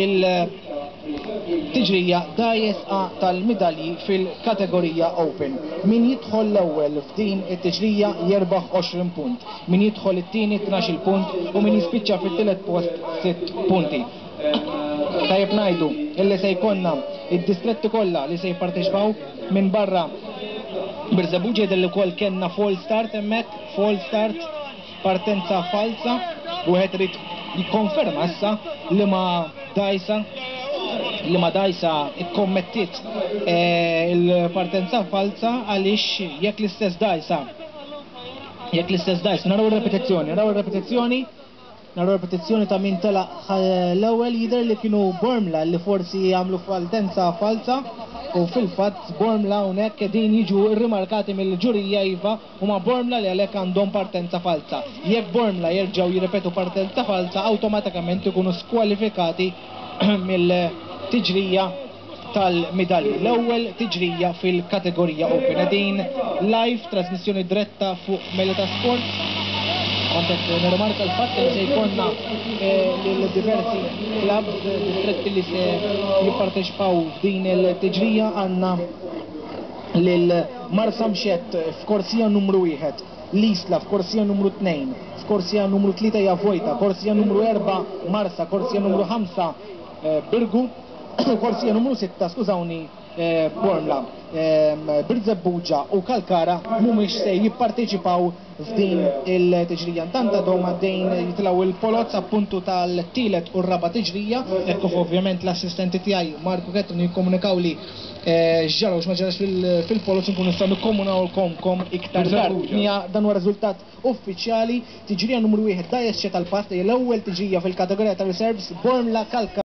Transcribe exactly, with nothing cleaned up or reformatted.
Il-tiġrija dgħajjes A tal-midalji fil-kategorija Open. Min jidħol l-ewwel f'din it-tiġrija jerbaħ għoxrin punt, min jidħol it-tieni tnax-il punt u min jispiċċa fit-tielet post sitt punti. Tajjeb ngħidu illi se jkollna id-distretti kollha li se jipparteċipaw minn barra Birżebbuġa. Jidher li wkoll kellna false start hemmhekk, false start, partenza falsa. Wieħed irid jikkonferma issa li ma dgħajsa li ma dgħajsa ikkommettiet eh, il-partenza falsa, għaliex jekk l-istess dgħajsa jekk l-istess dgħajsa naraw ir-repetizzjoni, naraw ir-repetizzjoni, naraw repetizzjoni ta' min telaq l-ewwel. Jidher li kienu Bormla li forsi jagħmlu partenza falsa u fil-fatt Bormla hawnhekk qegħdin jiġu rrimarkati mill-ġurija. Iva, huma Bormla li għalhekk għandhom partenza falsa. Jekk Bormla jerġgħu jirrepetu partenza falsa, awtomatikament ikunu skwalifikati mill-tiġrija tal-midalji. L-ewwel tiġrija fil-kategorija Open. Qegħdin live, trasmissjoni diretta fuq Melita Sports. Kont qed nirrimarka l-fatt li se jkollna lil diversi clubs, distretti li se jipparteċipaw f'din il-tiġrija. Għandna lil Marsamxett f'korsija numru wieħed, l-Isla f'korsija numru tnejn, f'korsija numru tlieta hija vojta, korsija numru erba' Marsa, korsija numru ħamsa Birgu, korsija numru sitta, skużawni, Bormla. Birżebbuġa u Kalkara mhumiex se jipparteċipaw f'din il-tiġrija. Intant għadhom għaddejn jitilgħu il-poloz appuntu tal-tielet u r-raba' tiġrija, hekk kif ovvjament l-assistenti tiegħi Marku Ketrin jikkomunikaw li x'ġara u x'ma ġarax fil-poloz, nkunu nistgħu nikkomunawlkom iktar tard. Dan huwa riżultat uffiċjali: tiġrija numru wieħed, dgħajjes C tal-patt, l-ewwel tiġrija fil-kategorija ta' reserves, Bormla, Kalkara.